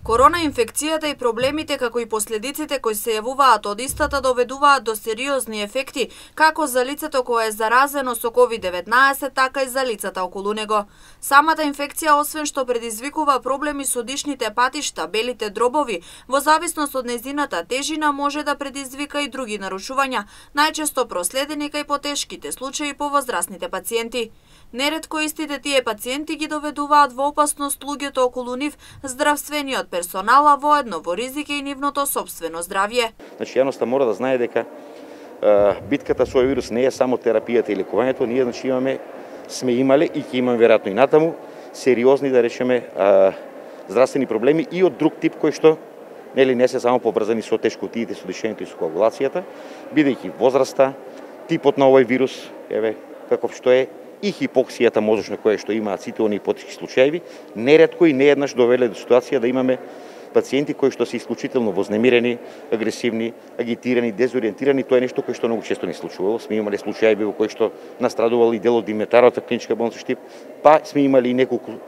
Корона инфекцијата и проблемите како и последиците кои се јавуваат од истата доведуваат до сериозни ефекти како за лицето кое е заразено со COVID-19, така и за лицата околу него. Самата инфекција, освен што предизвикува проблеми со дишните патишта, белите дробови, во зависност од нејзината тежина може да предизвика и други нарушувања, најчесто проследени кај потешките случаи по возрастните пациенти. Неретко истите тие пациенти ги доведуваат во опасност луѓето околу нив, здравствениот персонал, а воедно во ризик и нивното сопствено здравје. Значи, јавноста мора да знае дека битката со овој вирус не е само терапијата и лекувањето, ние сме имале и ќе имаме веројатно и натаму сериозни, да речеме, здравствени проблеми и од друг тип кои што не се само поврзани со тешкотиите, со дишењето и со коагулацијата, бидејќи возраста, типот на овој вирус, каков што е, и хипоксијата мозочна која што имаат сите оние потешки случаи, неретко и нееднаш довеле до ситуација да имаме пациенти кои што се исклучително вознемирени, агресивни, агитирани, дезориентирани. Тоа е нешто кое што многу често не случувало. Сме имале случаи во кои што настрадувал и дел од Димитаровата клиничка болница Штип, па сме имали и неколку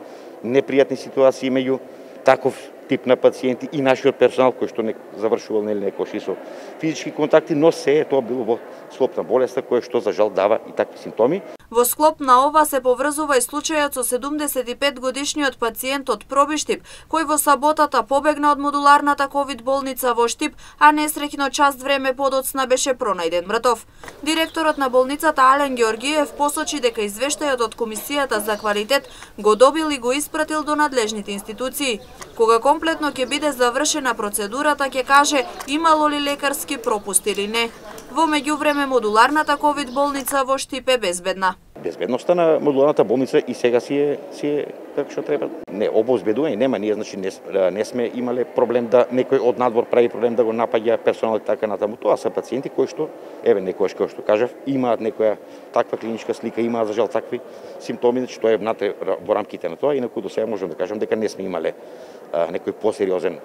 непријатни ситуации меѓу таков тип на пациенти и нашиот персонал кој што не завршувал некош и со физички контакти, но се е тоа било во склоп на болеста која што за жал дава и такви симптоми. Во склоп на ова се поврзува и случајот со 75 годишниот пациент од Пробиштип, кој во саботата побегна од модуларната ковид болница во Штип, а несреќно част време подоцна беше пронајден мртов. Директорот на болницата Ален Георгиев посочи дека извештајот од Комисијата за квалитет го добил и го испратил до надлежните институции. Кога комплетно ќе биде завршена процедурата, ќе каже имало ли лекарски пропуст или не. Во меѓувреме модуларната ковид болница во Штип е безбедна. Безбедноста на модуларната болница и сега си е како што треба. Не обезбедување нема, ние значи не сме имале проблем да некој од надвор прави проблем да го напаѓа персонал и така натаму. Тоа се пациенти кои што некојаш како што кажав, имаат некоја таква клиничка слика, имаат за жал такви симптоми, значи тоа е внатре во рамките на тоа, инаку до сега можам да кажам дека не сме имале некој посериозен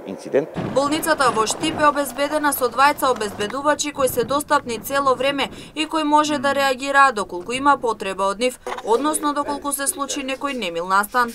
инцидент. Болницата во Штип е обезбедена со двајца обезбедувачи кои се достапни цело време и кои може да реагираат доколку има потреба од нив, односно доколку се случи некој немил настан.